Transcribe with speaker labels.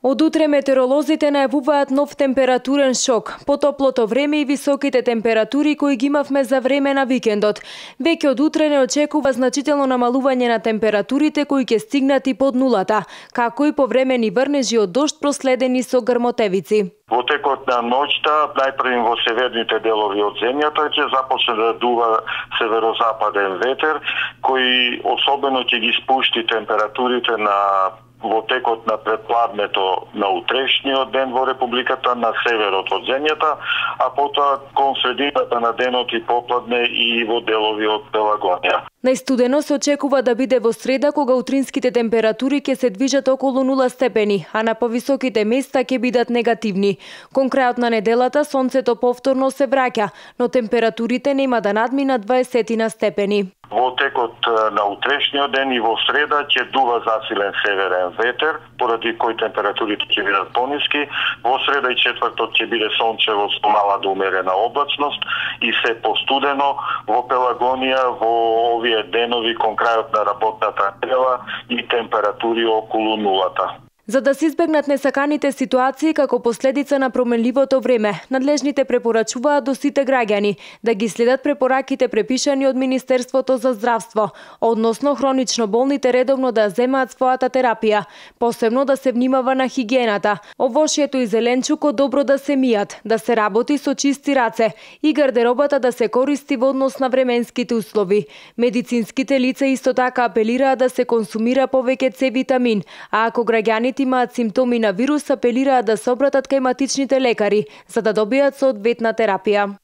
Speaker 1: Од утре метеоролозите најавуваат нов температурен шок. Потоплото време и високите температури кои ги имавме за време на викендот. Веќе од утре не очекува значително намалување на температурите кои ќе стигнат и под нулата, како и повремени врнежи од дожд проследени со грмотевици.
Speaker 2: Во текот на ноќта, најпрво во северните делови од земјата ќе започне да дува северозападен ветер, кој особено ќе ги спушти температурите во текот на предпладнето на утрешниот ден во Републиката на северот од земјата, а потоа кон средината на денот и попладне и во делови од Пелагонија.
Speaker 1: Најстудено се очекува да биде во среда, кога утринските температури ќе се движат околу 0 степени, а на повисоките места ќе бидат негативни. Кон крајот на неделата сонцето повторно се враќа, но температурите нема да надминат 20 степени.
Speaker 2: Во текот на утрешниот ден и во среда ќе дува засилен северен ветер, поради кој температурите ќе бидат пониски. Во среда и четврток ќе биде сончево со мала до умерена облачност и се постудено во Пелагонија во овие денови кон крајот на работната недела и температури околу нулата.
Speaker 1: За да се избегнат несаканите ситуации како последица на променливото време, надлежните препорачуваат до сите граѓани да ги следат препораките препишани од Министерството за здравство, односно хронично болните редовно да земаат својата терапија, посебно да се внимава на хигиената, овошјето и зеленчукот добро да се мијат, да се работи со чисти раце и гардеробата да се користи во однос на временските услови. Медицинските лица исто така апелираат да се консумира повеќе С витамин, а ако граѓани имаат симптоми на вирус, апелираат да се обратат кај матичните лекари за да добијат соодветна терапија.